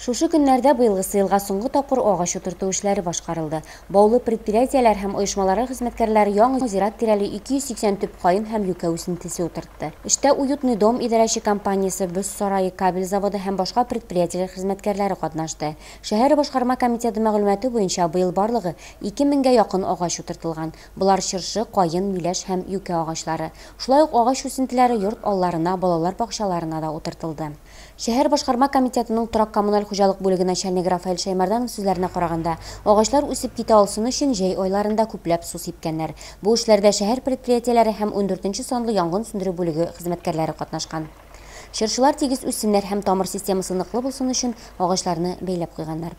Шушы көннәрдә быелгысы елга соңгы тапкыр агач утырту эшләре башкарылды. Баулы предприятиеләр һәм оешмалары хезмәткәрләре яңа зират тирәли 280 төп каен һәм юкә үсентесе утыртты. Эштә «Уютный дом» идарәче компаниясе, Боз сарае, кабель заводы һәм башка предприятиеләр хезмәткәрләре катнашты. Шәһәр башкарма комитеты мәгълүматы буенча быел барлыгы 2000гә якын агач утыртылган. Болар чыршы, каен, миләш һәм юкә агачлары. Шулай ук агач үсентеләре йорт алларына, балалар бакчаларына да утыртылды. Шәһәр башкарма комитетының торак-коммуналь хуҗалык бүлеге начальнигы Рафаэль Шәймәрданов сүзләренә караганда, агачлар үсеп китә алсын өчен җәй айларында күпләп су сипкәннәр. Бу эшләрдә шәһәр предприятиеләре һәм 14 санлы янгын сүндерү бүлеге хезмәткәрләре катнашкан. Чыршылар тигез үссеннәр һәм тамыр системасы ныклы булсын өчен агачларны бәйләп куйганнар.